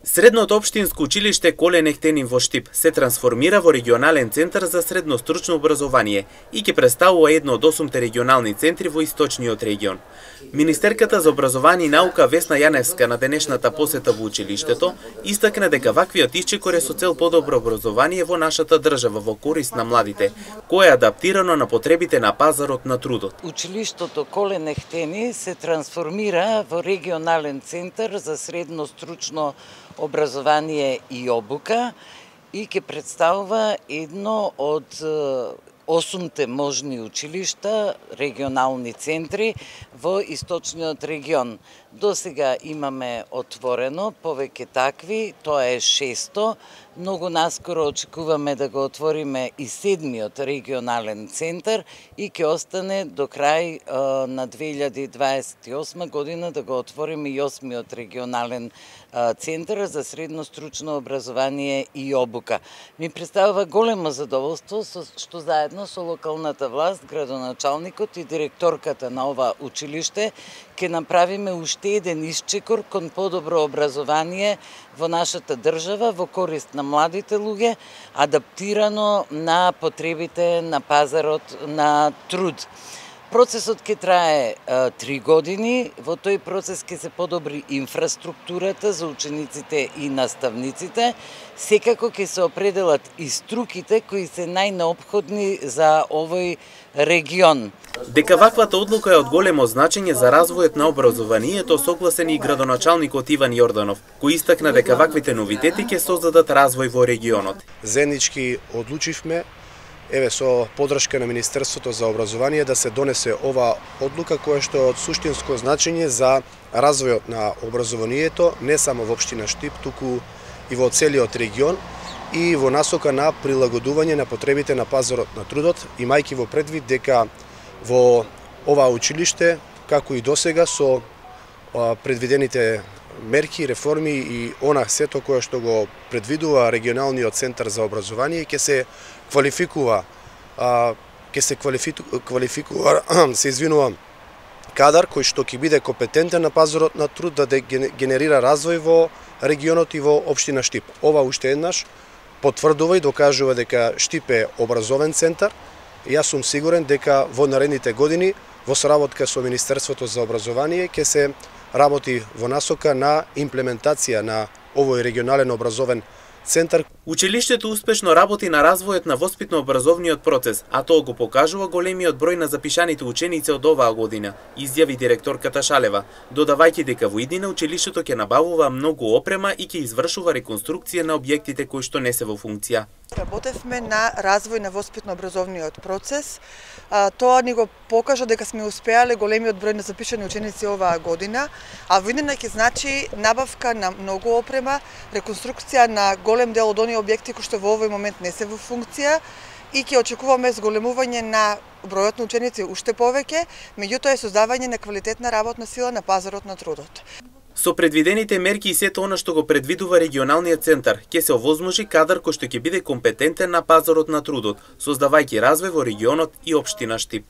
Средното општинско училиште Колен Ехтенин во Штип се трансформира во регионален центар за средно стручно образование и ќе представува едно од 8 регионални центри во источниот регион. Министерката за образование и наука Весна Јаневска на денешната посета во училиштето истакна дека ваквиот исчекор е со цел подобро образование во нашата држава во корист на младите, кое е адаптирано на потребите на пазарот на трудот. Училиштето Колен Ехтени се трансформира во регионален центар за средно стручно образование и обука и ќе представува едно од 8 можни училишта, регионални центри во источниот регион. До сега имаме отворено повеќе такви, тоа е 600. Многу наскоро очекуваме да го отвориме и 7-миот регионален центар и ќе остане до крај на 2028 година да го отвориме и 8-миот регионален центар за средно стручно образование и обука. Ми представува големо задоволство што заедно со локалната власт, градоначалникот и директорката на ова училиште ќе направиме уште еден исчекор кон подобро образование во нашата држава во корист на младите луѓе, адаптирано на потребите на пазарот на труд. Процесот ќе трае 3 години, во тој процес ќе се подобри инфраструктурата за учениците и наставниците, секако ќе се определат и струките кои се најнеопходни за овој регион. Дека ваквата одлука е од големо значење за развојот на образованието, согласен и градоначалникот Иван Јорданов, кој истакна дека ваквите новитети ќе создадат развој во регионот. Заеднички одлучивме, со поддршка на Министерството за образование, да се донесе ова одлука која што е од суштинско значење за развојот на образованието, не само во општина Штип, туку и во целиот регион и во насока на прилагодување на потребите на пазарот на трудот, имајќи во предвид дека во ова училиште, како и досега, со предвидените мерки, реформи и она сето кое што го предвидува регионалниот центар за образование, ќе се квалификува, се извинувам, кадар кој што ќе биде компетентен на пазарот на труд да генерира развој во регионот и во општина Штип. Ова уште еднаш потврдува и докажува дека Штип е образовен центар. Јас сум сигурен дека во наредните години во соработка со Министерството за образование ќе се работи во насока на имплементација на овој регионален образовен центар. Училиштето успешно работи на развојот на воспитно-образовниот процес, а тоа го покажува големиот број на запишаните ученици од оваа година, изјави директорката Шалева, додавајќи дека во иднина училиштето ќе набавува многу опрема и ќе извршува реконструкција на објектите кои што не се во функција. Работевме на развој на воспитно-образовниот процес. Тоа ни го покажа дека сме успеале големиот број на запишани ученици оваа година, а во иднина ќе значи набавка на многу опрема, реконструкција на голем дел од оние објекти кои што во овој момент не се во функција и ќе очекуваме зголемување на бројот на ученици уште повеќе, меѓутоа е создавање на квалитетна работна сила на пазарот на трудот. Со предвидените мерки и сето она што го предвидува регионалниот центар, ќе се овозможи кадар кој што ќе биде компетентен на пазарот на трудот, создавајќи развој во регионот и општина Штип.